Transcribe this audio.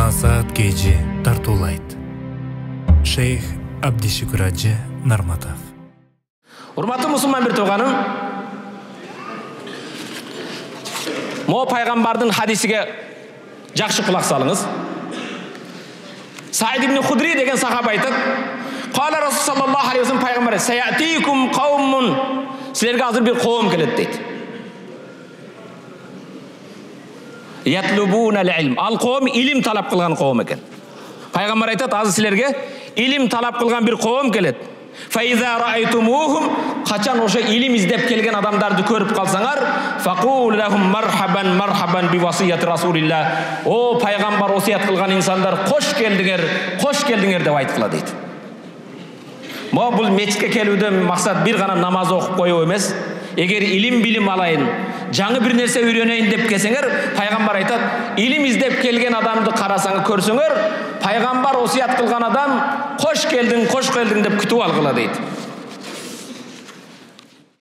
Насаат кежи тартуулайт. Шейх Абдишүкүр Ажы Нарматов. Урматтуу мусулман бир тууганым, мо пайгамбардын хадисиге жакшы кулак салыңыз. Саид ибн Худри деген сахаба айтат: "Кала Расул саллаллаху алейхи вассалам пайгамбар: "Саятикум каумун", силерге азыр бир коом келет" дейт. Ятлубуна ал-илм. Ал коом илим талап кылган коом экен. Пайгамбар айтат: "Азыр силерге илим талап кылган бир коом келет. Фаиза раайтумухум", качан ошо илим издеп келген адамдарды көрүп калсаңар, факул лахум мархабан мархабан би васияти Расулилlah. О пайгамбар осият кылган инсандар, кош келдиңер деп айткыла дейт. Мо бул мечитке келүүдөн максат бир гана намаз окуп коюу эмес. Эгер илим билим алайын, жаңы бир нерсе үйрөнөйүн деп келсеңер, пайгамбар айтат: илим издеп келген адамды карасаңыз, көрсөңөр, пайгамбар осият кылган адам кош келдиң деп күтүп алгыла дейт.